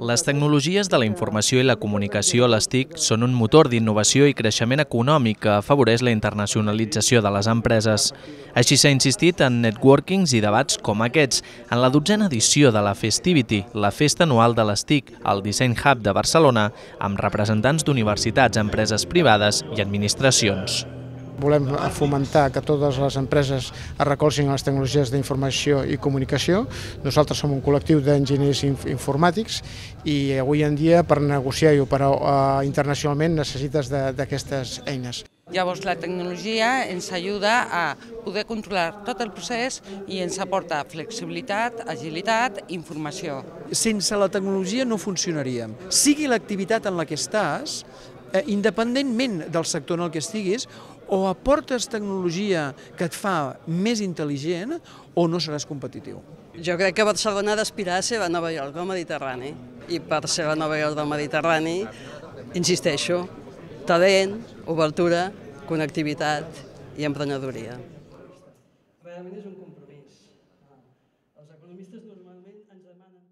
Les tecnologies de la informació i la comunicació a les TIC són un motor d'innovació i creixement econòmic que afavoreix la internacionalització de les empreses. Així s'ha insistit en networkings i debats com aquests, en la 12a edició de la Festivity, la festa anual de les TIC, al Design Hub de Barcelona, amb representants d'universitats, empreses privades i administracions. Volem fomentar que totes les empreses es recolzin a les tecnologies d'informació i comunicació. Nosaltres som un col·lectiu d'enginyers informàtics i avui en dia per negociar i operar internacionalment necessites d'aquestes eines. Llavors la tecnologia ens ajuda a poder controlar tot el procés i ens aporta flexibilitat, agilitat i informació. Sense la tecnologia no funcionaríem. Sigui l'activitat en la que estàs, independentment del sector en el que estiguis, o aportes tecnologia que et fa més intel·ligent o no seràs competitiu. Jo crec que Barcelona ha d'aspirar a ser la Nova York del Mediterrani. I per ser la Nova York del Mediterrani, insisteixo, talent, obertura, connectivitat i emprenedoria. Realment és un compromís. Els economistes normalment ens demanen...